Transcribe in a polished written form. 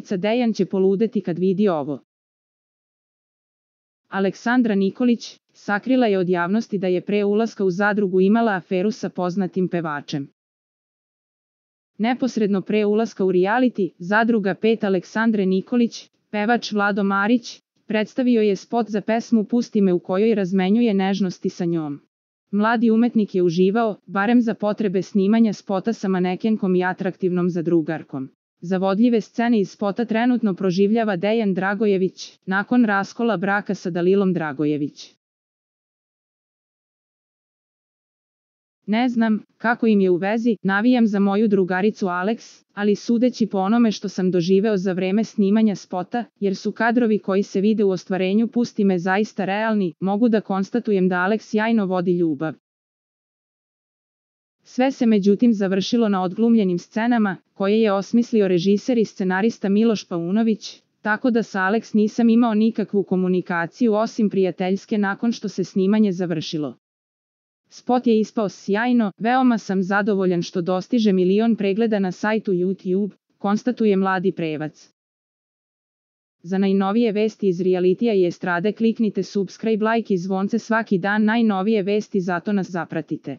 umetnica Dejan će poludeti kad vidi ovo. Aleksandra Nikolić sakrila je od javnosti da je pre ulaska u zadrugu imala aferu sa poznatim pevačem. Neposredno pre ulaska u reality Zadruga 5 Aleksandre Nikolić, pevač Vlado Marić predstavio je spot za pesmu Pusti me u kojoj razmenjuje nežnosti sa njom. Mladi umetnik je uživao, barem za potrebe snimanja spota sa manekenkom i atraktivnom zadrugarkom. Zavodljive scene iz spota trenutno proživljava Dejan Dragojević, nakon raskola braka sa Dalilom Dragojević. Ne znam kako im je u vezi, navijam za moju drugaricu Alex, ali sudeći po onome što sam doživeo za vreme snimanja spota, jer su kadrovi koji se vide u ostvarenju Pusti me zaista realni, mogu da konstatujem da Alex sjajno vodi ljubav. Sve se međutim završilo na odglumljenim scenama, koje je osmislio režiser i scenarista Miloš Paunović, tako da sa Alex nisam imao nikakvu komunikaciju osim prijateljske nakon što se snimanje završilo. Spot je ispao sjajno, veoma sam zadovoljan što dostiže 1 milion pregleda na sajtu YouTube, konstatuje mladi prevac. Za najnovije vesti iz realitija i estrade kliknite subscribe, like i zvonce svaki dan, najnovije vesti, zato nas zapratite.